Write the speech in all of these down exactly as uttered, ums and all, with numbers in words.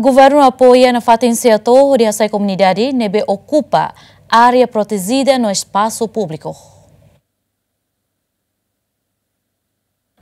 Governu apoia nafatin SEATOU hodi hasai komunidade ne'ebé okupa área protejida no espasu públiku.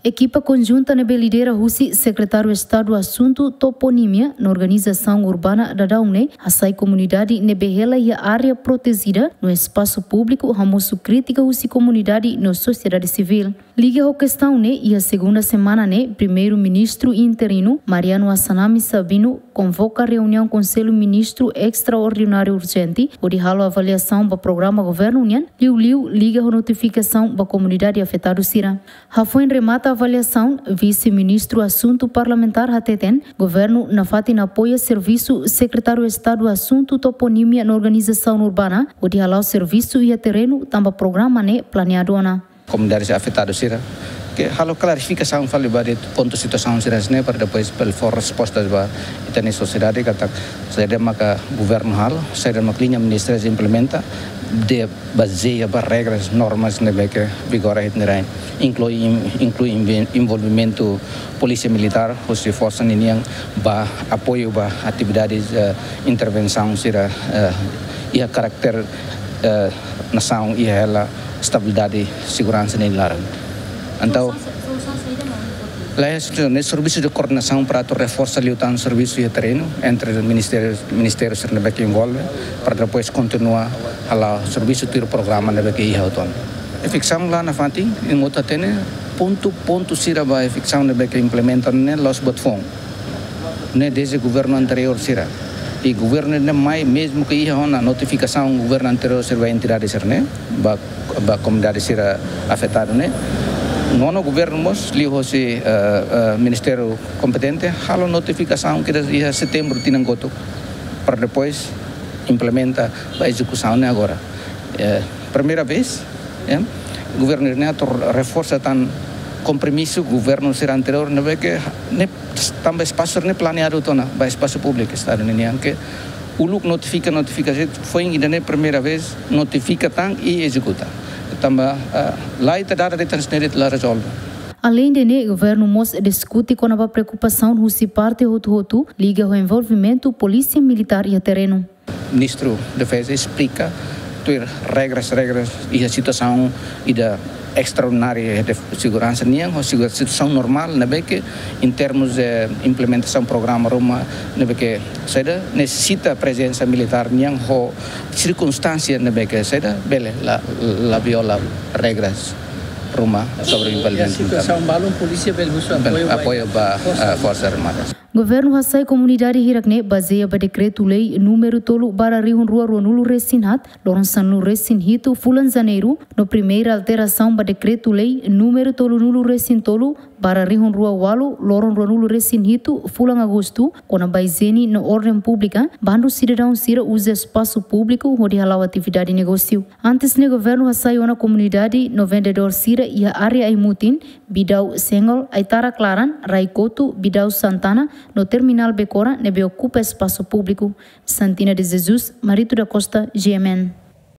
Ekipa konjunta ne'ebé lidera husi Sekretáriu Estadu Asuntu Toponímia no Organizasaun Urbana daudaun ne'e hasai komunidade ne'ebé hela iha área protejida no espasu públiku hamosu krítika husi komunidade no sosiedade sivíl. Liga ho kestaun ne'e, iha segunda semana ne'e, Primeiru-Ministru interinu, Mariano Assanami Sabino, konvoka reuniaun Konsellu Ministru estraordináriu urjente, hodi halo avaliasaun ba programa governu nian, liuliu liga ho notifikasaun ba komunidade afetadu sira. Hafoin remata avaliasaun, Vise-Ministru Asuntu Parlamentár hateten, governu nafatin apoia servisu Sekretáriu Estadu Asuntu Toponímia no Organizasaun Urbana, hodi hala'o servisu iha terrenu tanba programa ne'e planeadu ona. Komunidade afetadu sira, ke halo klarifikasaun fali ba de'it pontu situasaun sira hanesan ne'e para depois bele fó respostas ba ita-nia sosiedade katak saida maka governu halo, saida maka liña ministeriál implementa, de bazeia ba regras, normas ne'ebé ke vigora iha ita-nia rain, inklui, inklui envi-, envolvimentu Polísia Militár, husi forsa ninian ba apoiu ba atividades, eh, intervensaun sira, eh, iha karakter, eh, nasaun iha hela estabilidade, seguransa nia laran. Entaun, la é, ne'e servisu de koordenasaun para atu reforsa liután servisu iha terrenu entre ministériu, ministériu sira ne'ebé ke envolve, para depois kontinua hala'o servisu tuir programa ne'ebé ke iha hotu ona. Efiksaun la nafatin, imi hotu hatene, pontu, pontu sira ba efiksaun ne'ebé ke implementa ne'e la'ós buat foun. Ne'e dezde governu anteriór sira. I governu ne'e mai mezmu ke iha ona notifikasaun governu anteriór sira ba entidade sira ne'e, ba, ba komunidade sira afetadu ne'e. Nonu governu mós liuhosi, eh, eh, ministériu kompetente halo notifikasaun kedas iha setembru tinan kotuk, para depois implementa ba ezekusaun ne'e agora. Eh, primeira vez, eh, governu ne'e atu reforsa tan kompromisu governu sira anteriór ne'ebé ke ne'e tanba espasu ne'e planeadu tiha ona ba espasu públiku Estadu ninian, ke uluk notifika, notifika, foin ida-ne'e primeira vez notifika tan i ezekuta. Tanba, ah, la iha data de'it hanesan ne'e de'it la rezolve. Aleinde ne'e, governu mós diskute kona-ba preokupasaun husi parte hotu-hotu liga ho envolvimentu Polísia Militár iha terrenu. Ministru Defeza esplika tuir regras, regras iha situasaun ida estraordinária de seguransa nian, ho situa-, situasaun normál, ne'ebé ke em termos de implementasaun programa ruma, ne'ebé ke saida, nesesita prezensa militár nian, ho sirkunstánsia ne'ebé ke saida, bele la, la viola regras ruma sobre envolvimentu. Situasaun balun, polísia bele husu apoiu ba, apoiu ba, forsa, eh, Forsa Armada. Governu hasai komunidade hirak ne'e bazeia ba dekretu-lei númeru tolu barra rihun rua ruanulu resin haat, loron sanulu resin hitu fulan Janeiru, no primeira alterasaun ba dekretu-lei númeru tolunulu resin tolu barra rihun rua walu, loron ruanulu resin hitu fulan Agostu, kona-ba ijiene no orden públika, bandu sidadaun sira uza espasu públiku hodi hala'o atividade negósiu. Antes ne'e governu hasai ona komunidade no vendedór sira iha área Aimutin, Bidau Sengol, Aitara Klaran, Raikotu, Bidau Santana, no Terminál Becora, ne'ebé okupa espasu públiku. Santina de Jesus, Marito da Costa, G M N.